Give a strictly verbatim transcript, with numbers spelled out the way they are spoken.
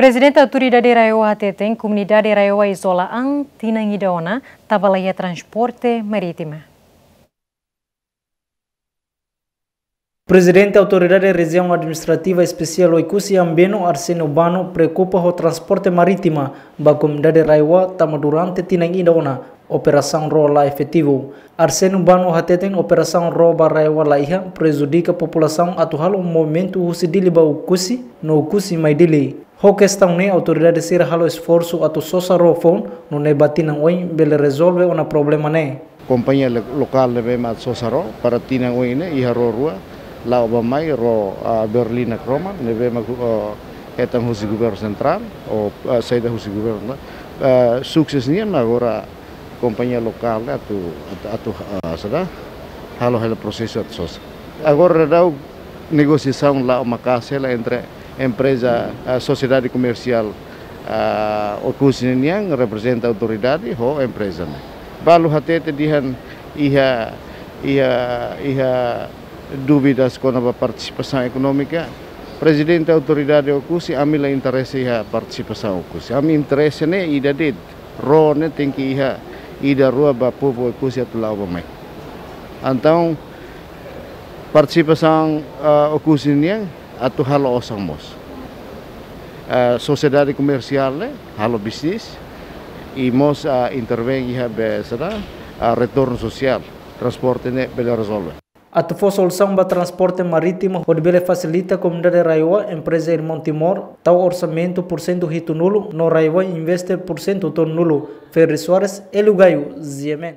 Prezidente Autoridade RAEOA hateten komunidade RAEOA izola an tinan ida ona tanba laiha transporte marítima. Prezidente Autoridade Rejiaun Administrativa Espesiál Oekusi Ambeno, Arsénio Bano, preokupa ho transporte marítima ba komunidade RAEOA tanba durante tinan ida ona operasaun ró la efetivu. Arsénio Bano hateten operasaun ró ba RAEOA laiha prejudika populasaun atu halo movimentu husi Dili ba Oekusi no Oekusi mai Dili. Ho kestaun ne'e autoridade sira halo esforsu atu sosa ró foun, nune'e ba tinan oin bele rezolve ona problema ne'e. Kompañia lo-, lokál ne'ebé mak sosa ró para tinan oin ne'e iha ró rua, la'o ba mai ró, ah, Berlina Kroman, ne'ebé mak, ah, hetan husi governu sentrál, ou, ah, saida husi governu, ah, sukses nian agora kompañia lokál ne'e atu, atu, atu, ah, saida, halo hela prosesu atu sosa. Agora daudaun negosiasaun la'o maka'as hela entre empreza, ah, sosiedade komersiál, ah, Oekusi nian reprezenta autoridade ho empreza ne'e. Balu hatete dehan iha, iha, iha dúvidas kona-ba partisipasaun ekonómika. Prezidente Autoridade Oekusi, ami la interese iha partisipasaun Oekusi. Ami interese ne'e ida de'it, ró ne'e tenke iha ida rua ba povu Oekusi atu la'o ba mai. Entaun, partisipasaun, ah, Oekusi nian atu halo osan mós. Ah, sosiedade komersiál ne'e halo bisnis, i mós, ah, intervein iha be saida, ah, retornu sosiál, transporte ne'e bele rezolve. Atu fó solusaun ba transporte marítimu hodi bele fasilita komunidade RAEOA, empreza Irmaun Timor tau orsamentu pursentu hitunulu no RAEOA investe pursentu tolunulu. Ferri Soares, Hélio Gaio, G M N.